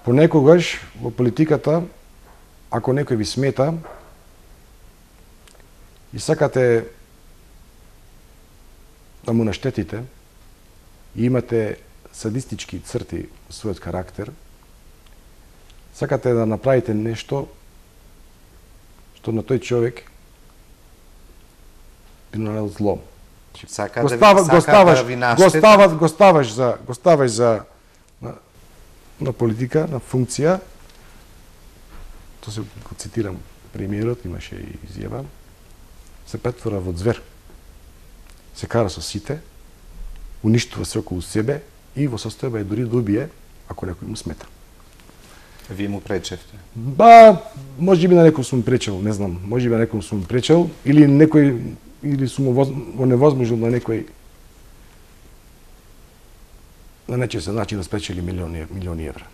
Понекогаш во политиката, ако некој ви смета и сакате да му наштетите и имате садистички црти во својот карактер, сакате да направите нешто што на тој човек би нанел зло. Го ставаш за на политика, на функција. Тоа се го цитирам премиерот, имаше и изјава. Се претвора во звер. Се кара со сите, уништува се околу себе и во состојба е дури да убие ако некој му смета. Вие му пречевте? Може би на некој сум пречел, не знам. Може би на некој сум пречел или сум оневозможил на некој на нечесен начин да спечели милиони евра.